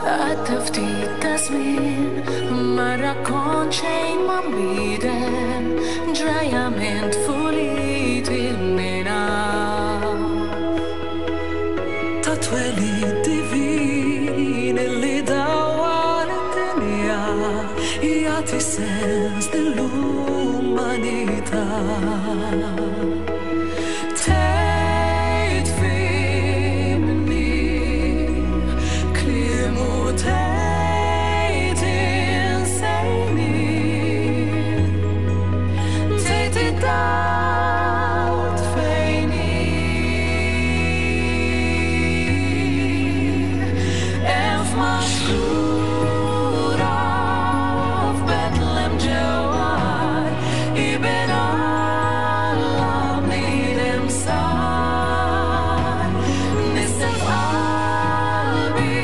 Għadda ftit ta' żmien ma rrakkont xejn ma nbidel ġrajja minn tfuliti minn hawn. Ta' twelid divin illi dawwar id-dinja jagħti sens lill-umanità. Tgħid fhimni, kliemu tgħid insejni. Tgħid id-dawl tfejni. Hemm f'maxtura f'Betlem ġewwa Iben Alla bniedem sar. Nissel f'qalbi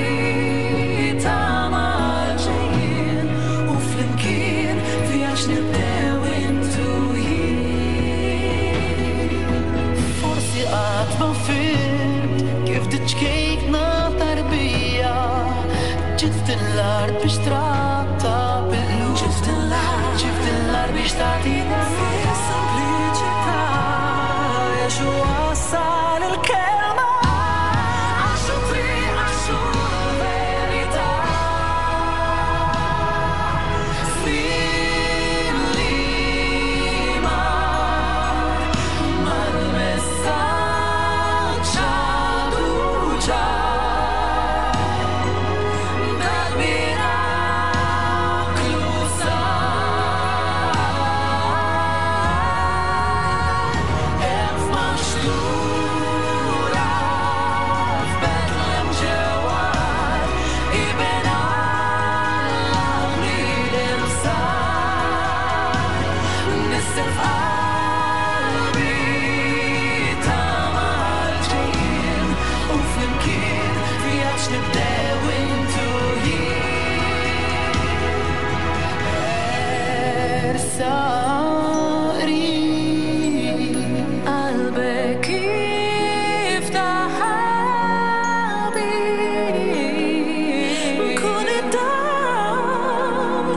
tama għall-ġejjien u flimkien vjaġġ nibdew int u jien. Forsi qatt ma fhimt kif diċ-ċkejkna tarbija ġiet f'din l-art biex tratta bil-qlub. Ġiet f'din l-art, ġiet f'din l-art biex tagħtina Fis-sempliċità Ġesù wassal il-kelma. Għax hu triq, għax hu l-verità. Żmien li mar mal-messaġġ għadu ċar. Dal-miraklu sar. Hemm f'maxtura f'Betlem ġewwa Iben Alla bniedem sar. Nissel f'qalbi tama għall-ġejjien u flimkien vjaġġ nibdew int u jien. Ersaq qrib qalbek iftaħ ħabib. Kun id-dawl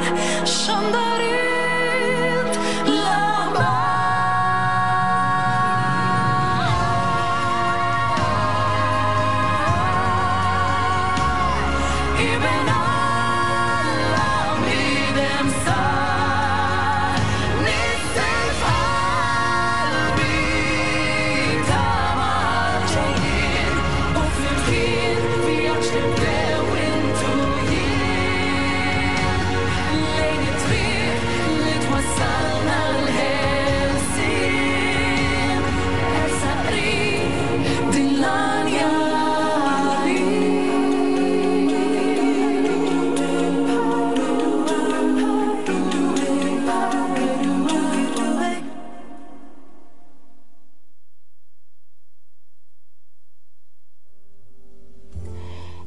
xandar int l-aħbar. Iben Alla bniedem sar. Nissel f'qalbi tama għall-ġejjien u flimkien vjaġġ nibdew int u jien. Lejn it-triq li twassalna l-ħelsien. Ersaq qrib din l-għanja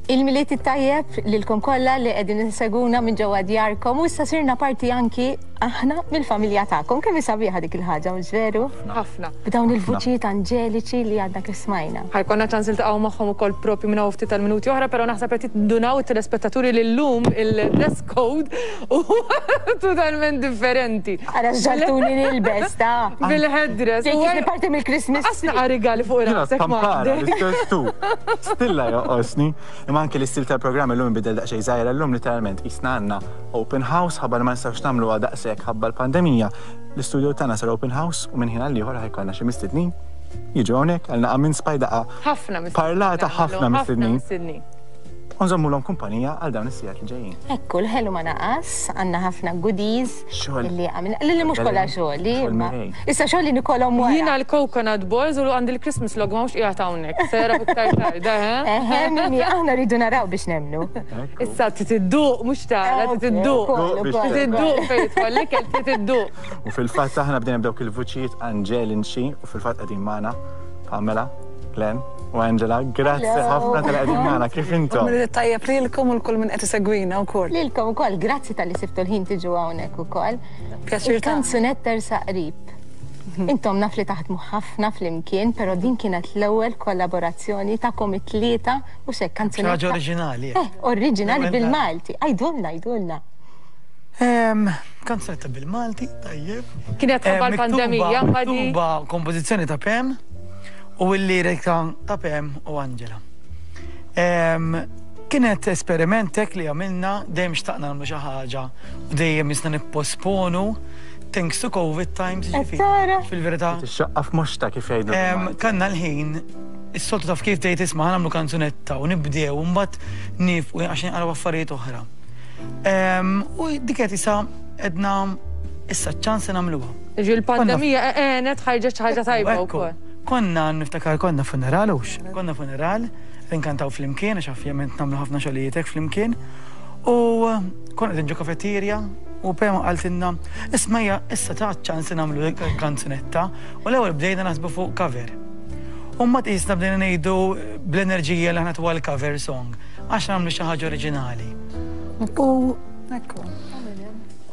Il-Milied it-tajjeb lilkom kollha li qegħdin inseguna minn ġewwa djarkom u issa sirna parti anki aħna mill-familja tagħkom. Kemm hi sabiħa dik il-ħaġa, mhux veru? Ħafna. B'dawn il-vuċijiet anġeliċi li għadna kif smajna. Ħa jkollna ċans niltaqgħu magħhom ukoll propju minn hawn ftit tal-minuti oħra, però naħseb qed jindunaw it-telespettaturi li llum il-dress code huwa totalment differenti. Ara x'ġagħaltuni nilbes ta'. Bil-headdress. Jekk parti mill-Christmas. Qas naqa' rigali fuq rasek. Tampara, l-istess tu. Stilla joqosni. Imma anke l-istil tal-programm illum inbidel daqsxejn żgħira llum literalment qisna għandna open house ħabba li ma nistgħux nagħmluha daqshekk ħabba l-pandemija. L-istudio tagħna sar open house u minn ħin għal ieħor ħa jkollna xi mistednin jiġu hawnhekk għal naqa' minn spaj daqqa. Ħafna mistednin. Parlata ħafna mistednin. U nżommulhom kumpanija għal dawn is-sigħat li ġejjin. Ekku, l-ħelu ma naqas, għandna ħafna goodies. Xogħol. Illi għamilna, li mhux kollha xogħli. Xogħol imma- Mirej. Issa xogħli nikolhom wara. Jiena l-coconut balls u għandi l-Christmas log ma mhux qiegħed hawnhekk. Sera iktar tard, eh? Eħe, mimi, aħna rridu naraw biex nemnu. Ekku. Issa trid idduq mhux tara, trid idduq. Ukoll, Biex ukoll. Trid idduq fejn jidħol l-ikel trid idduq. U fil-fatt aħna bdejna b'dawk il-vuċijiet anġelinċi u fil-fatt qegħdin magħna Pamela, Glenn u Angela. Grazzi Hello. ħafna tal qegħdin magħna. Kif intom? Milied tajjeb lilkom u l-kull min qed isegwina wkoll. Lilkom ukoll, grazzi talli sibtu l-ħin tiġu hawnhekk ukoll. Pjaċir tagħna. Il-kanzunetta Tersaq Qrib. Intom naf li taħdmu ħafna flimkien, però din kienet l-ewwel kollaborazzjoni tagħkom it-tlieta u xek kanzunetta. Xi ħaġa oriġinali. Eh, oriġinali L-ewwel bil-Malti. Għidulna, għidulna. Kanzunetta bil-Malti, tajjeb. Kienet ħabba l-pandemija, Miktuba, ma di- miktuba kompożizzjoni ta' Pam u l-lirika ta' Pam u Angela. Kienet esperiment hekk li għamilna, dejjem xtaqna nagħmlu xi ħaġa u dejjem jisna nipposponu thanks to COVID times, Qed ġifieri. tara? Fil-verità. Tixxaqqa f'moxta kif jgħidu. Kanna l-ħin, is-soltu taf kif tgħid isma' nagħmlu kanzunetta u nibdew u mbagħad nifqu għax nqaraw affarijiet oħra. U dik qed isa edna issa ċ-ċans li nagħmluha. Ġi l-pandemija għenet ħarġet xi ħaġa tajba Ekku, wkoll. Konna niftakar konna funeral hux, konna funeral, inkantaw flimkien, għax ovvjament nagħmlu ħafna xogħlijiet hekk flimkien. U konna qegħdin ġo kafeterja u Pema qaltilna, isma' hija issa ta' ċans li nagħmlu kanzunetta u l-ewwel bdejna naħsbu fuq cover. U mbagħad qisna bdejna ngħidu bl-enerġija li aħna tuha l-cover song għax nagħmlu xi ħaġa oriġinali. U Ekku.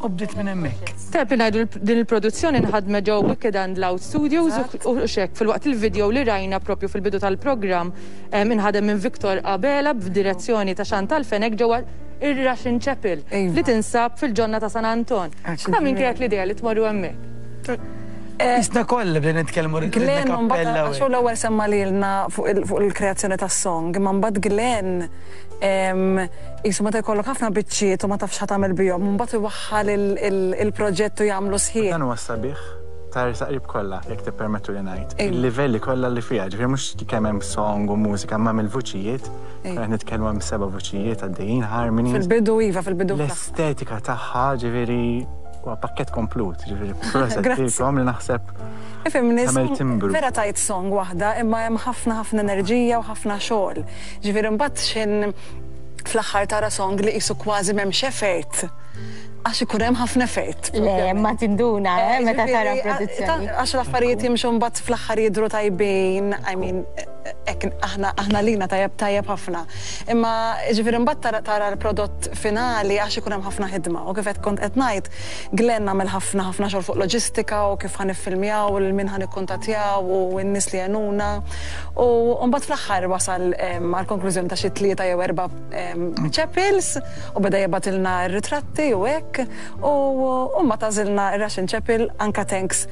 u bdiet minn hemmhekk. Tajb li ngħidu din il-produzzjoni nħadmet ġew Wicked and Loud Studios u xek filwaqt il-video li rajna propju fil-bidu tal-programm inħadem minn Victor Abela b'direzzjoni ta' Chantal Fenech ġewwa ir-Russian Chapel Iva. li tinsab fil-ġonna ta' San Anton. Ta' min kienet l-idea li tmorru hemmhekk? Isna kollha bdejna nitkellmu ridna Glenn, mbagħad kappella u għax hu l-ewwel semma lilna fuq il-kreazzjoni tas-song, imma mbagħad Glenn qisu meta jkollok ħafna biċċiet u ma tafx ħa tagħmel bihom, mbagħad iwaħħal il-proġett u jagħmlu sħiħ. Dan huwa sabiħ ta' Ersaq Qrib kollha, jekk tippermettu li ngħid. Iva. Il-livelli kollha li fiha, ġifieri mhux kemm hemm song u mużika, imma mill-vuċijiet, Iva. qed nitkellmu hemm seba' vuċijiet għaddejjin harmonies. Fil-bidu iva, fil-bidu. L-estetika tagħha, ġifieri huwa pakkett komplut, ġifieri proset Grazzi. lilkom li naħseb Ifhimni, tagħmel timbru. vera tajt song waħda, imma hemm ħafna ħafna enerġija u ħafna xogħol. Ġifieri mbagħad xin fl-aħħar tara song li qisu kważi m'hemmx effort. Għax ikun hemm ħafna effort. Le, ma tinduna, eh, meta tara Ġifieri, produzzjoni. Għax l-affarijiet jimxu mbagħad fl-aħħar jidhru tajbin, I mean, hekk aħna lina tajjeb tajjeb ħafna. Imma ġifieri mbagħad tara l-prodott finali għax ikun hemm ħafna ħidma. U kif qed kont qed ngħid, Glenn għamel ħafna ħafna xogħol fuq loġistika u kif ħa niffilmjaw u lil min ħa nikkuntattjaw u n-nies li għenuna. U mbagħad fl-aħħar wasal għall-konklużjoni ta' xi tlieta jew erba' chapels u beda jibgħatilna r-ritratti u hekk. U mbagħad għażilna ir-Russian Chapel anka thanks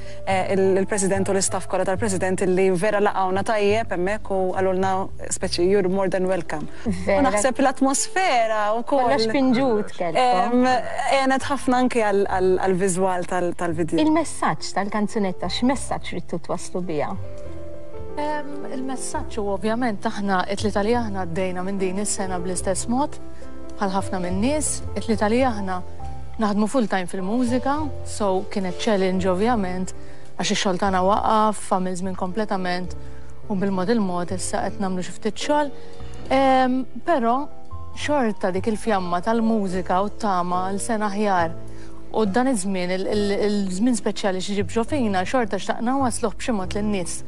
il-President u l-istaff kollha tal-President illi vera laqgħuna tajjeb hemmhekk u qalulna speċi you're more than welcome. U Vera. naħseb l-atmosfera wkoll. Kollox pinġut kellkom. Għenet ħafna anke għal-viżwal tal-video. Il-messaġġ tal-kanzunetta, x'messaġġ ridtu twasslu biha? Il-messaġġ u ovvjament aħna it-tlieta li aħna għaddejna minn din is-sena bl-istess mod bħal ħafna minn nies, it-tlieta li aħna naħdmu full time fil-mużika, so kienet challenge ovvjament għax ix-xogħol tagħna waqaf, għamil żmien kompletament u bil-mod il-mod issa qed nagħmlu xi ftit xogħol. Però xorta dik il-fjamma tal-mużika u t-tama l sena aħjar. U dan iż-żmien, il-żmien speċjali xi ġib ġo fina, xorta xtaqna wasluh b'xi mod lin-nies.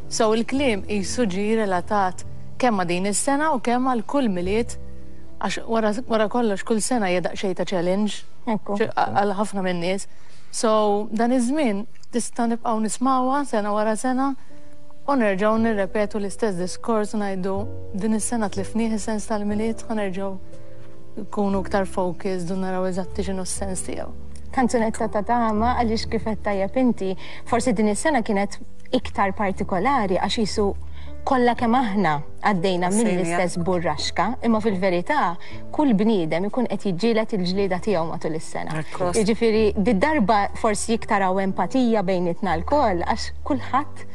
So il-kliem qisu ġie relatat kemm ma' din is-sena u kemm għal kull Milied, għax wara kollox kull sena hija daqsxejn ta' challenge Ekku. Għal ħafna min-nies. So dan iż-żmien tista' nibqgħu nismawha sena wara sena u nerġgħu nirrepetu l-istess diskors u ngħidu din is-sena tlifnieh is-sens tal-Milied, ħa nerġgħu nkunu iktar focused u naraw eżatti x'inhu s-sens tiegħu. Kanzunetta ta' tama għaliex kif qed tajjeb inti, forsi din is-sena kienet iktar partikolari għax jisu kollha kemm aħna għaddejna mill-istess burraxka, imma fil-verità kull bniedem ikun qed jiġġieled il-ġlieda tiegħu matul is-sena. Ekku. Jiġifieri di darba forsi iktar hawn empatija bejnietna lkoll għax kulħadd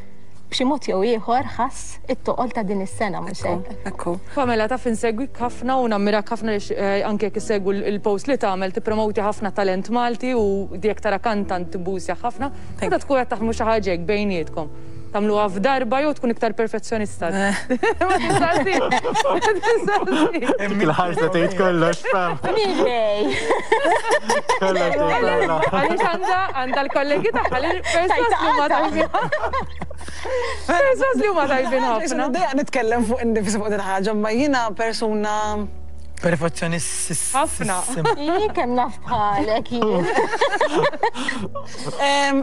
b'xi mod jew ieħor ħass it-toqol ta' din is-sena mhux hekk. Ekku. Pamela taf insegwik ħafna u nammirak ħafna għaliex eh, anke jekk issegwu l-post li tagħmel tippromowti ħafna talent Malti u jekk tara kantant tibbusja ħafna. Meta tkun qed taħdmu xi ħaġa hekk bejnietkom. Tagħmluha f'darba jew tkun iktar perfezzjonista? Ma tistaqsix. Ma tistaqsix. Dik il-ħarsa tgħid kollox, Pam. Mirej! Kollox tgħid kollox. Għaliex għandha għandha l-kollegi tagħha li perswas li huma tajbin. Perswas li huma tajbin ħafna. Dejja nitkellem fuq innifsi fuq din ħaġa, ma jiena persuna Perfezzjonist. Ħafna. Jien kemm naf bħalek jien.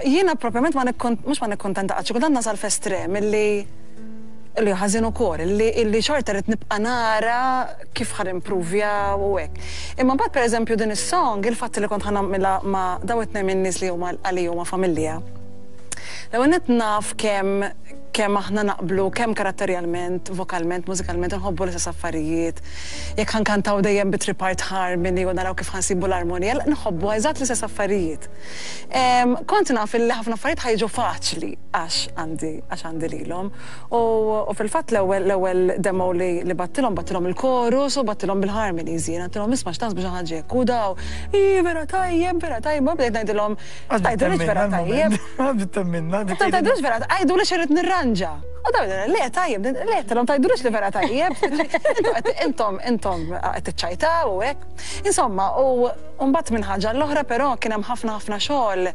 Jiena propjament ma mhux ma nikkontenta qatt, xi kultant nasal f'estrem illi li ħażin ukoll, illi xorta rrid nibqa' nara kif ħa nimpruvja u hekk. Imma mbagħad pereżempju din is-song, il-fatt li kont ħa nagħmilha ma' dawn it-tnejn min-nies li huma għalija huma familja. L-ewwel nett naf kemm kemm aħna naqblu kemm karatterjalment, vokalment, mużikalment inħobbu l-istess affarijiet. Jekk ħa nkantaw dejjem bi three-part harmony u naraw kif ħa nsibu l-armonija, nħobbu eżatt l-istess affarijiet. Kont naf illi ħafna affarijiet ħa jiġu faċli għax għandi għax għandi lilhom. U fil-fatt l-ewwel l-ewwel demo li li bgħattilhom bgħattilhom il-chorus u bgħattilhom bil-harmonies jien għedtilhom isma' x'taħsbu xi ħaġa hekk u daw, ii vera tajjeb, vera tajjeb, u bdejt ngħidilhom Tgħidulix vera tajjeb. Temminna. Tgħidulix vera għiduli x'irrid nirranġa. U daw le tajjeb, le tilhom tgħidulix li vera tajjeb. Intom intom qed tiċċajtaw u hekk. Insomma, u mbagħad minn ħaġa l-oħra però kien hemm ħafna ħafna xogħol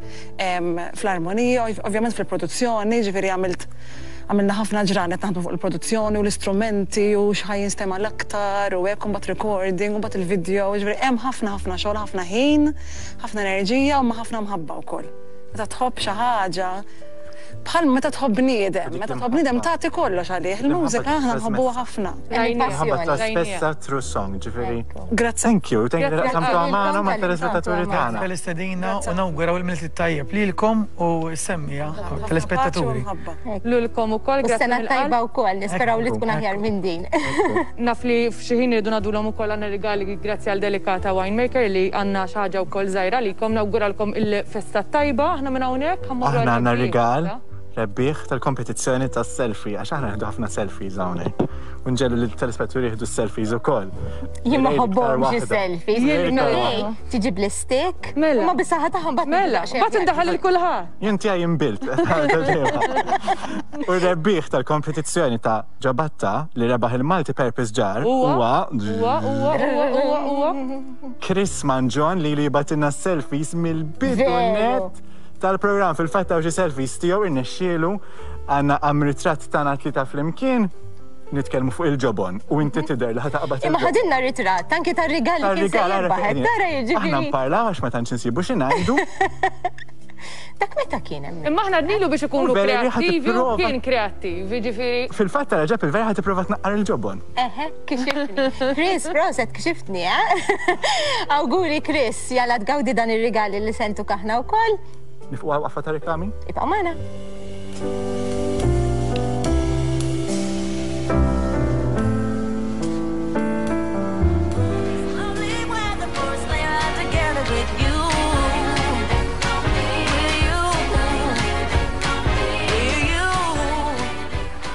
fl-armonija, ovvjament fil-produzzjoni, ġifieri għamilt għamilna ħafna ġranet naħdmu fuq il-produzzjoni u l-istrumenti u x'ħa jinstema' l-aktar u hekk u mbagħad recording u mbagħad il-video, ġifieri hemm ħafna ħafna xogħol, ħafna ħin. Ħafna enerġija u ma' ħafna mħabba wkoll. Meta tħobb xi ħaġa, bħal meta tħobb bniedem, meta tħobb bniedem tagħti kollox għalih. Il-mużika aħna nħobbuha ħafna. Mħabba trasmessa through song, ġifieri. Grazzi. Thank you, thank you li qsamtu magħna u mat-telespettaturi tagħna. Tal-istedina u nawguraw il-Milied it-tajjeb lilkom u s-semmiegħa telespettaturi. Lilkom ukoll, grazzi. U sena tajba wkoll, nisperaw li tkun aħjar minn din. Naf li f'xi ħin irridu ngħaddulhom ukoll għandna rigali grazzi għal Delicata Winemaker li għandna xi ħaġa wkoll żgħira għalikom. Nawguralkom il-festa t-tajba. Aħna minn hawnhekk ħa mmorru Aħna għandna għar-rebbieħ rigal issa. rebbieħ tal-kompetizzjoni tas-selfie għax aħna nieħdu ħafna selfies hawnhekk. U nġegħlu lit-telespetturi jieħdu s-selfies ukoll. Jien ma Irrid iktar ħobbhomx waħda. is-selfies. Irrid iktar Ej, waħda. tiġi bl-istik. Mela. Ma bis-saħħa tagħhom mbagħad Mela, nibda mbagħad indaħħal lil kulħadd. Jien tiegħi inbilt. U r-rebbieħ tal-kompetizzjoni ta' Ġabatta li rebaħ il-Multi Purpose Jar Huwa huwa huwa huwa huwa huwa. Chris Mangion li li jibatilna selfies mill-bidu Veru. net tal-programm. Fil-fatt hawn xi selfies tiegħu irnexxielu għandna għam ritratt tagħna tlieta flimkien nitkellmu fuq il-ġobon u inti tidher li ħa taqbad Imma il-ġobon. ħadilna ritratt anki tar-rigal li kien se Tar-rigal ara jirbaħ. fejn Tara Aħna jiġifieri. nparlaw għax ma tantx insibu xi ngħidu. Dak meta kien hemm? Imma aħna għednilu biex ikunu U vera li ħa kreattivi u tipprova. kien kreattiv, jiġifieri. Fil-fatt tara ġab il-vera ħa tipprova tnaqqar il-ġobon. Eħe, kxiftni. Chris, proset, kxiftni, eh? Awguri Chris, jalla tgawdi dan ir-rigal li sentuk aħna wkoll. Nifqu għal waqfa ta' reklami? Ibqa' magħna.